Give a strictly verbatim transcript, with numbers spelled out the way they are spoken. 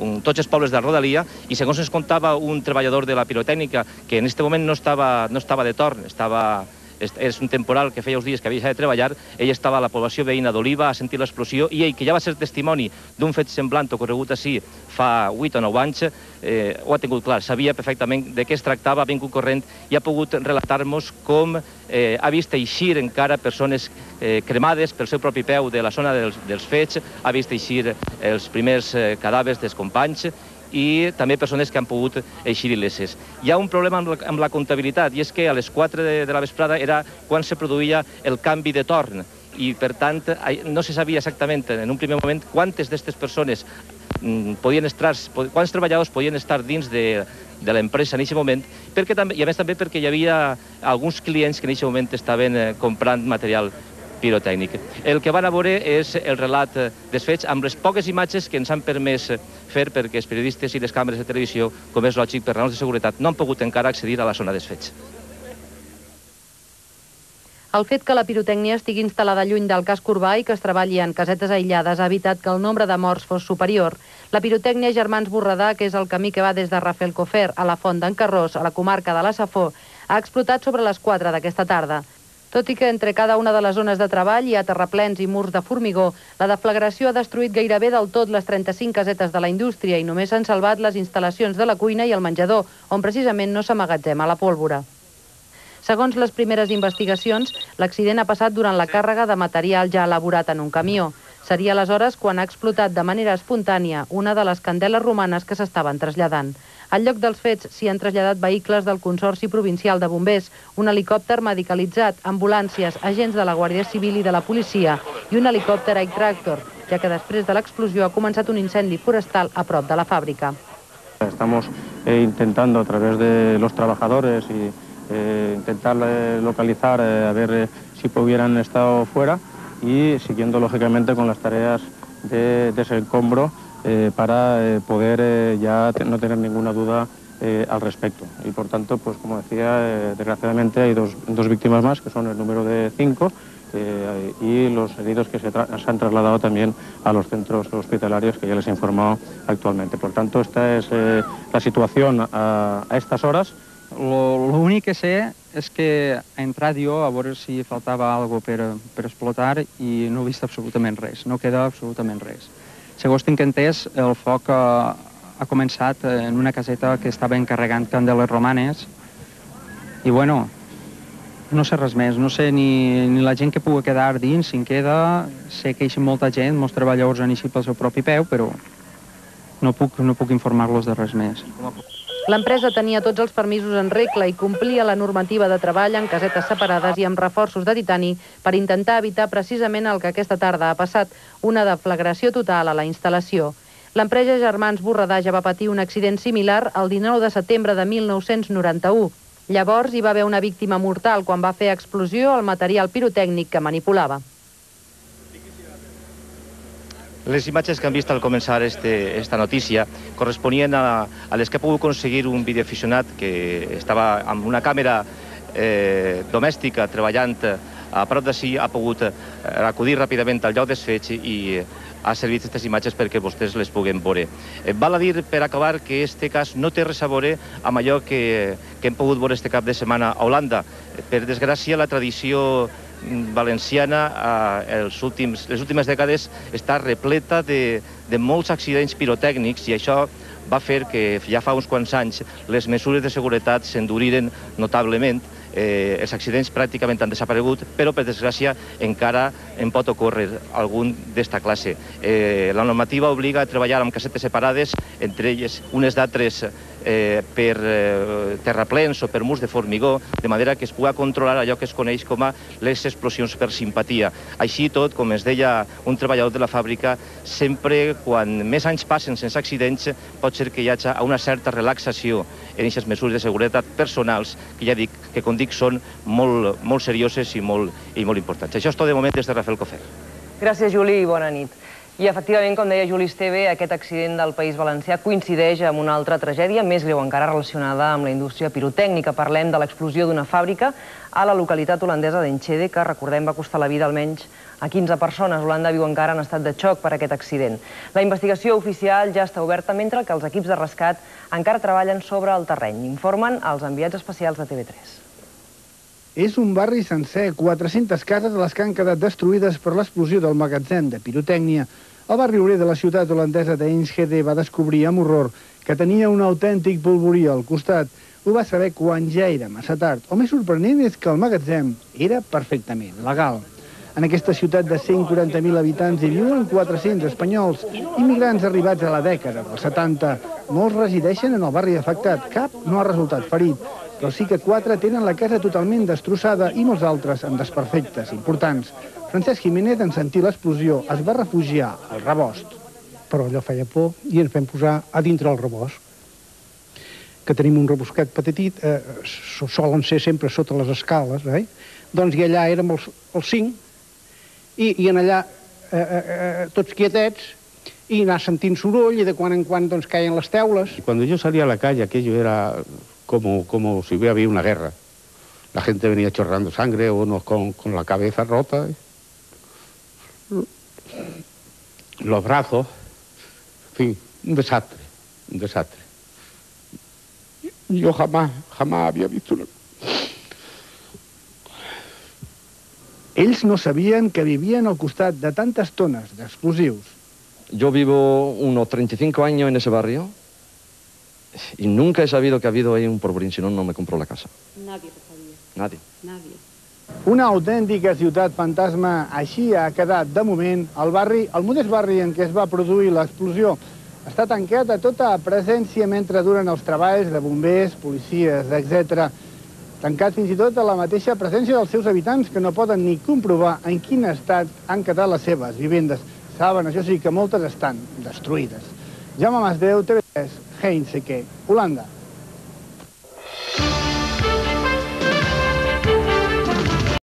tots els pobles de la rodalia, i segons ens contava un treballador de la pirotècnica, que en aquest moment no estava, no estava de torn, estava, és un temporal que feia uns dies que havia deixat de treballar, ell estava a la població veïna d'Oliva, ha sentit l'explosió, i ell, que ja va ser testimoni d'un fet semblant ocorregut així fa vuit o nou anys, eh, ho ha tingut clar, sabia perfectament de què es tractava, ha vingut corrent i ha pogut relatar-nos com eh, ha vist eixir encara persones eh, cremades pel seu propi peu de la zona dels, dels fets, ha vist eixir els primers eh, cadàvers dels companys, i també persones que han pogut eixir il·leses. Hi ha un problema amb la, amb la comptabilitat, i és que a les quatre de, de la vesprada era quan se produïa el canvi de torn, i per tant no se sabia exactament en un primer moment quantes d'aquestes persones podien estar, quants treballadors podien estar dins de, de l'empresa en aquest moment, perquè també, i a més també perquè hi havia alguns clients que en aquest moment estaven comprant material pirotècnic. El que van a veure és el relat dels fets amb les poques imatges que ens han permès fer, perquè els periodistes i les càmeres de televisió, com és lògic per raons de seguretat, no han pogut encara accedir a la zona dels fets. El fet que la pirotècnia estigui instal·lada lluny del casc urbà i que es treballi en casetes aïllades ha evitat que el nombre de morts fos superior. La pirotècnia Germans Borredà, que és el camí que va des de Rafelcofer a la Font d'en Carròs, a la comarca de la Safor, ha explotat sobre les quatre d'aquesta tarda. Tot i que entre cada una de les zones de treball hi ha terraplens i murs de formigó, la deflagració ha destruït gairebé del tot les trenta-cinc casetes de la indústria i només s'han salvat les instal·lacions de la cuina i el menjador, on precisament no s'emmagatzema la pólvora. Segons les primeres investigacions, l'accident ha passat durant la càrrega de material ja elaborat en un camió. Seria aleshores quan ha explotat de manera espontània una de les candeles romanes que s'estaven traslladant. Al lloc dels fets s'hi han traslladat vehicles del Consorci Provincial de Bombers, un helicòpter medicalitzat, ambulàncies, agents de la Guàrdia Civil i de la policia i un helicòpter Air-Tractor, ja que després de l'explosió ha començat un incendi forestal a prop de la fàbrica. Estamos eh, intentando a través de los trabajadores y eh, intentar eh, localizar eh, a ver eh, si hubieran estado fuera y siguiendo lógicamente con las tareas de desencombro Eh, para eh, poder eh, ya te, no tener ninguna duda eh, al respecto. Y por tanto, pues como decía, eh, desgraciadamente hay dos, dos víctimas más, que son el número de cinco, eh, y los heridos que se, se han trasladado también a los centros hospitalarios que ya les he informado actualmente. Por tanto, esta es eh, la situación a, a estas horas. L'únic que sé és que he entrat jo a veure si faltava alguna cosa per, per explotar i no he vist absolutament res, no queda absolutament res. Segons tinc entès, el foc ha, ha començat en una caseta que estava encarregant candeles romanes i, bueno, no sé res més, no sé ni, ni la gent que pugui quedar dins, si en queda, sé que hi ha molta gent, molts treballadors han eixit pel seu propi peu, però no puc, no puc informar-los de res més. L'empresa tenia tots els permisos en regla i complia la normativa de treball en casetes separades i amb reforços de titani per intentar evitar precisament el que aquesta tarda ha passat, una deflagració total a la instal·lació. L'empresa Germans Borredà ja va patir un accident similar el dinou de setembre de mil nou-cents noranta-u. Llavors hi va haver una víctima mortal quan va fer explosió el material pirotècnic que manipulava. Les imatges que han vist al començar este, esta notícia corresponien a, a les que ha pogut aconseguir un videoaficionat que estava amb una càmera eh, domèstica treballant a prop d'ací, ha pogut acudir ràpidament al lloc dels fets i ha servit aquestes imatges perquè vostès les puguem veure. Eh, val a dir, per acabar, que este cas no té res a veure amb allò que, que hem pogut veure este cap de setmana a Holanda. Per desgràcia, la tradició valenciana eh, els últims, les últimes dècades està repleta de, de molts accidents pirotècnics i això va fer que ja fa uns quants anys les mesures de seguretat s'enduriren notablement. Eh, els accidents pràcticament han desaparegut, però per desgràcia encara en pot ocórrer algun d'esta classe. Eh, la normativa obliga a treballar amb casetes separades, entre elles unes d'altres eh, per eh, terraplens o per murs de formigó, de manera que es pugui controlar allò que es coneix com a les explosions per simpatia. Així tot, com es deia un treballador de la fàbrica, sempre quan més anys passen sense accidents pot ser que hi hagi una certa relaxació en aquestes mesures de seguretat personals que ja dic que, com dic, són molt, molt serioses i molt, i molt importants. Això és tot de moment des de Rafelcofer. Gràcies, Juli, i bona nit. I efectivament, com deia Juli Esteve, aquest accident del País Valencià coincideix amb una altra tragèdia, més greu encara relacionada amb la indústria pirotècnica. Parlem de l'explosió d'una fàbrica a la localitat holandesa d'Enschede, que, recordem, va costar la vida almenys a quinze persones. Holanda viu encara en estat de xoc per aquest accident. La investigació oficial ja està oberta, mentre que els equips de rescat encara treballen sobre el terreny. Informen els enviats especials de T V tres. És un barri sencer, quatre-centes cases les que han quedat destruïdes per l'explosió del magatzem de pirotècnia. El barri obrer de la ciutat holandesa d'Enschede va descobrir amb horror que tenia un autèntic polvorí al costat. Ho va saber quan ja era massa tard. El més sorprenent és que el magatzem era perfectament legal. En aquesta ciutat de cent quaranta mil habitants hi viuen quatre-cents espanyols, immigrants arribats a la dècada dels setanta. Molts resideixen en el barri afectat, cap no ha resultat ferit, però sí que quatre tenen la casa totalment destrossada i molts altres amb desperfectes importants. Francesc Jiménez, en sentir l'explosió, es va refugiar al rebost. Però allò feia por i ens vam posar a dintre el rebost, que tenim un rebosquet petit, eh, solen ser sempre sota les escales, eh? Doncs i allà érem els, els cinc, i, i en allà eh, eh, tots quietets, i anar sentint soroll, i de quan en quan doncs, caien les teules. Cuando yo salía a la calle, aquello era como, como si hubiera habido una guerra. La gente venía chorrando sangre, unos con, con la cabeza rota. Los brazos, en fin, un desastre, un desastre. Yo jamás, jamás había visto una... Ells no sabien que vivien al costat de tantes tones d'explosius. Yo vivo unos treinta y cinco años en ese barrio y nunca he sabido que ha habido ahí un polvorín, si no, no me compro la casa. Nadie lo sabía. Nadie. Nadie. Una autèntica ciutat fantasma, així ha quedat de moment el barri, el modest barri en què es va produir l'explosió. Està tancat a tota presència mentre duren els treballs de bombers, policies, etcètera. Tancat fins i tot a la mateixa presència dels seus habitants, que no poden ni comprovar en quin estat han quedat les seves vivendes. Saben, això sí, que moltes estan destruïdes. Jaume Masdeu, T V tres, Heinzeke, Holanda.